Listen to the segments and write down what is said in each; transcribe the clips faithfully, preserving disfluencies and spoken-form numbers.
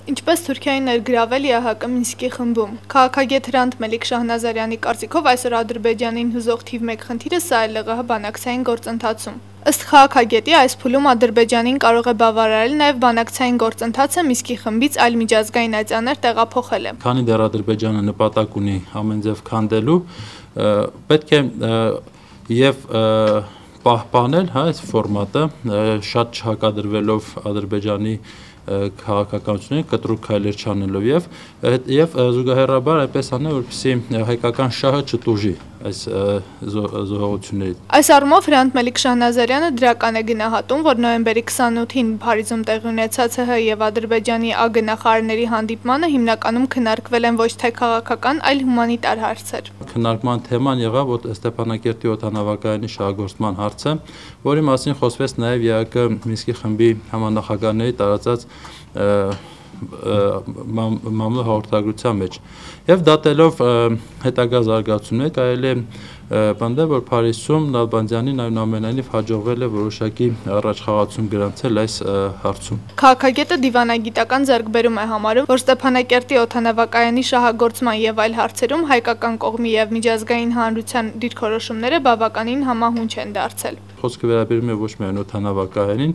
Ինչպես Թուրքիային ներգրավել ԵԱՀԿ Մինսկի խմբում։ Քաղաքագետ Հրանտ Մելիք Շահնազարյանի կարծիքով այսօր Ադրբեջանին հուզող թիվ մեկ խնդիրը սա է ԼՂՀ բանակցային գործընթացում։ Ըստ քաղաքագետի, այս փուլում Ադրբեջանին կարող է բավարարել նաև բանակցային գործընթացը Մինսկի խմբից այլ միջազգային այցաններ տեղափոխելը։ Քանի դեռ Ադրբեջանը նպատակ ունի ամեն ձև քանդելու, պետք է եւ պահպանել հա այս ֆորմատը, շատ չհակադրվելով Ադրբեջանի քաղաքականությունների կտրուկ քայլեր չանելով եւ եւ զուգահեռաբար այնպես անել, որպեսզի հայկական շահը չտուժի այս զոհողություններից։ Այս առումով Հրանտ Մելիք Շահնազարյանը դրական է գնահատում, որ նոյեմբերի քսանութին Փարիզում տեղի ունեցած ՀՀ եւ Ադրբեջանի ԱԳ նախարարների հանդիպմանը հիմնականում քննարկվել են ոչ թե քաղաքական, այլ հումանիտար հարցեր։ Քննարկման թեման եղավ Ստեփանակերտի օդանավակայանի շահագործման հարցը, որի մասին խոսվեց նաև ԵԱՀԿ Մինսկի խմբի համանախագահների տարածած մամուլ հաղորդագրության մեջ եւ դատելով հետագա զարգացումներ կարելի է պնդել, որ Փարիզում Նալբանդյանին այնուամենայնիվ հաջողվել է որոշակի առաջխաղացում գրանցել այս հարցում։ Քաղաքագետը դիվանագիտական ձեռքբերում է համարում, որ Ստեփանակերտի օդանավակայանի շահագործման եւ այլ հարցերում հայկական կողմի եւ միջազգային հանրության դիրքորոշումները բավականին համահունչ են դարձել։ Խոսքը վերաբերում է ոչ միայն օդանավակայանին,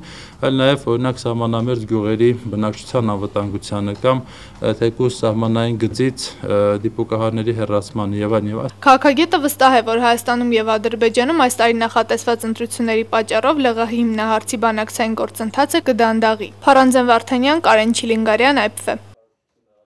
այլ նաև օրինակ սահմանամերձ գյուղերի բնակչության անվտանգությանը կամ թեկուզ սահմանային գծից դիպուկահարների հեռացմանը եւ այլն եւ այլն։ Քաղաքագետը վստահ է, որ Հայաստանում եւ Ադրբեջանում այս տարի նախատեսված ընտրությունների պատճառով ԼՂՀ հիմնահարցի բանակցային գործընթացը կդանդաղի։ Փարանձեն Վարդանյան, Կարեն Չիլինգարյան, Այ Փ Վ։